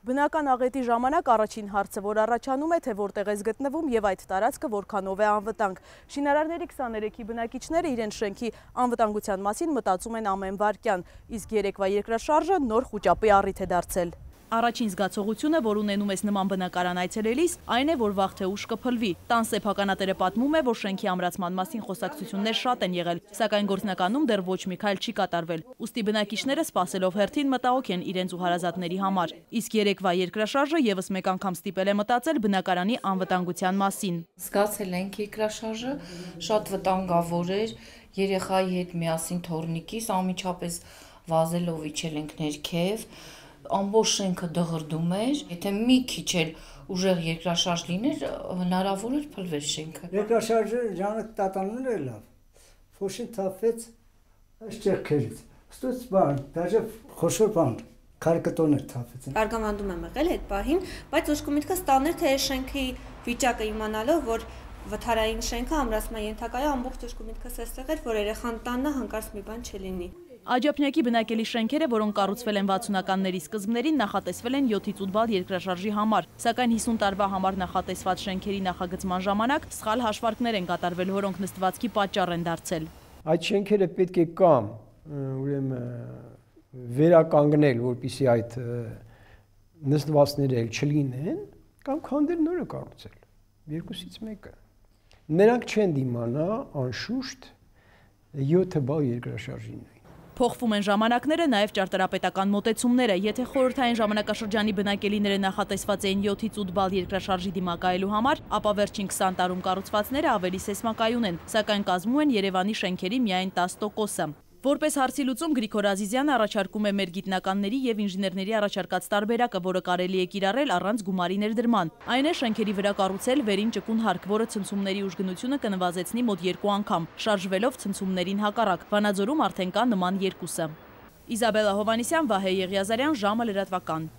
Բնական աղետի ժամանակ առաջին հարցը, որ առաջանում է, թե որտեղ ես գտնվում եւ այդ տարածքը որքանով է անվտանգ։ Շինարարների 23-ի բնակիչները իրենց շենքի անվտանգության մասին մտածում են ամեն վայրկյան, իսկ երեկվա երկրաշարժը նոր խուճապի առիթ է դարձել։ Առաջին զգացողությունը, որ ունենում ես նման բնակարան այցելելիս, այն է, որ վաղ թե ուշ կփլվի։ Տան սեփականատերը պատմում է, որ շենքի ամրացման մասին խոսակցություններ շատ են եղել, սակայն գործնականում դեռ ոչ մի քայլ չի կատարվել։ Ուստի բնակիչները սպասելով հերթին մտահոգ են իրենց ու հարազատների համար։ Իսկ երեկվա երկրաշարժը եւս մեկ անգամ ստիպել է մտածել բնակարանի անվտանգության մասին։ Զգացել ենք երկրաշարժը, շատ վտանգավոր էր, երեխայի հետ միասին թոռնիկիս անմիջապես վազելով իջել ենք ներքև, ամբողջ շենքը դղրդում էր, եթե մի քիչ էլ ուժեղ երկրաշարժ լիներ, հնարավոր էր փլվեր շենքը։ Երկրաշարժը ջանը տատանուն էր լավ, փոշին թափվեց այս ճեղքերից, ստուց բան, դաժե խոշոր բան, քարկտոներ թափվեցին։ Արգամանդում եմ եղել այդ պահին, բայց ուշքի միտքը ստաններ, թե շենքի վիճակը իմանալով, որ վթարային շենքը ամրացման ենթակա է, ամբողջ ուշքի միտքս էստեղ էր, որ երեխան տաննա հանկարծ մի բան չլինի։ Աջափնյակի բնակելի շենքերը, որոնք կառուցվել են 60-ականների սկզբներին, նախատեսվել են 7-ից 8 բալ երկրաշարժի համար, սակայն 50 տարվա համար նախատեսված շենքերի նախագծման ժամանակ սխալ հաշվարկներ են կատարվել, որոնք նստվածքի պատճառ են դարձել։ Այդ շենքերը պետք է կամ ուրեմն վերականգնել, որպեսզի այդ նստվածքները չլինեն, կամ քանդել նորը կառուցել։ Երկուսից մեկը։ Նրանք չեն դիմանա անշուշտ 7 բալ երկրաշարժին։ Փոխվում են ժամանակները, նաև ճարտարապետական մոտեցումները։ Եթե խորհրդային ժամանակաշրջանի բնակելիները նախատեսված էին 7-ից 8 բալ երկրաշարժի դիմակայելու համար, ապա վերջին 20 տարում կառուցվածքները ավելի սեսմակայուն են, սակայն կազմում են Երևանի շենքերի միայն 10%-ը։ Որպես հարցի լուծում Գրիգոր Ազիզյանը առաջարկում է մեր գիտնականների եւ ինժեներների առաջարկած տարբերակը, որը կարելի է կիրառել առանց գումարի ներդրման։ Այն է շենքերի վրա կառուցել վերին ճկուն հարկ, որը ցնցումների ուժգնությունը կնվազեցնի մոտ 2 անգամ, շարժվելով ցնցումներին հակառակ։ Վանաձորում արդեն կա նման երկուսը։ Իզաբելլա Հովհաննիսյան, Վահե Եղիազարյան, ժամը լրատվական։